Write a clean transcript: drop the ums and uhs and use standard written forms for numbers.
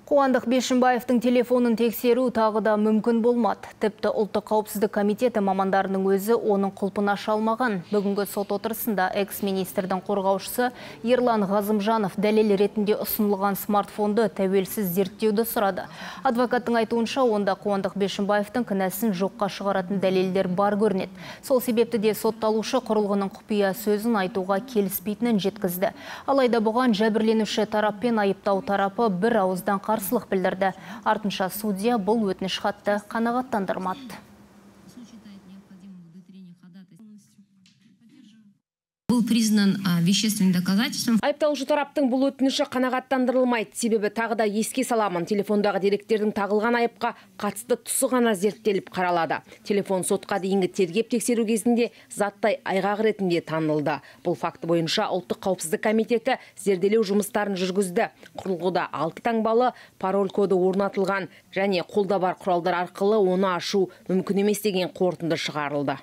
Қуандық Бишімбаевтың телефонын тексеру тағы да мүмкін болмады. Тіпті ұлттық қауіпсіздік комитеті мамандарының өзі оның құлпын аша алмаған. Бүгінгі сот отырысында экс-министрдің қорғаушысы Ерлан Ғазымжанов дәлел ретінде ұсынылған смартфонды тәуелсіз зерттеуді сұрады. Адвокаттың айтуынша, онда Қуандық Бишімбаевтың кінәсін жоққа шығаратын дәлелдер бар көрінеді. Сол себепті де сотталушы құрылғының құпия сөзін айтуға келіспейтінін жеткізді. Алайда бұған жәбірленуші тарап пен айыптау тарапы бір ауыздан қарсылық білдірді. Артынша судья бұл өтініш хатты қанағаттандырмады. Был признан вещественным доказательством. Айыпталушы тараптың бұл өтініші қанағаттандырылмайды. Себебі тағы да еске саламын, телефондағы деректердің тағылған айыпқа қатысты тұсы ғана зерттеліп қаралады. Телефон сотқа дейінгі тергеп тексеру кезінде заттай айғақ ретінде танылды. Бұл факті бойынша ұлттық қауіпсіздік комитеті зерделеу жұмыстарын жүргізді. Құрылғыда 6 таңбалы пароль коды орнатылған және қолда бар құралдар арқылы оны ашу мүмкін емес деген қорытынды шығарылды.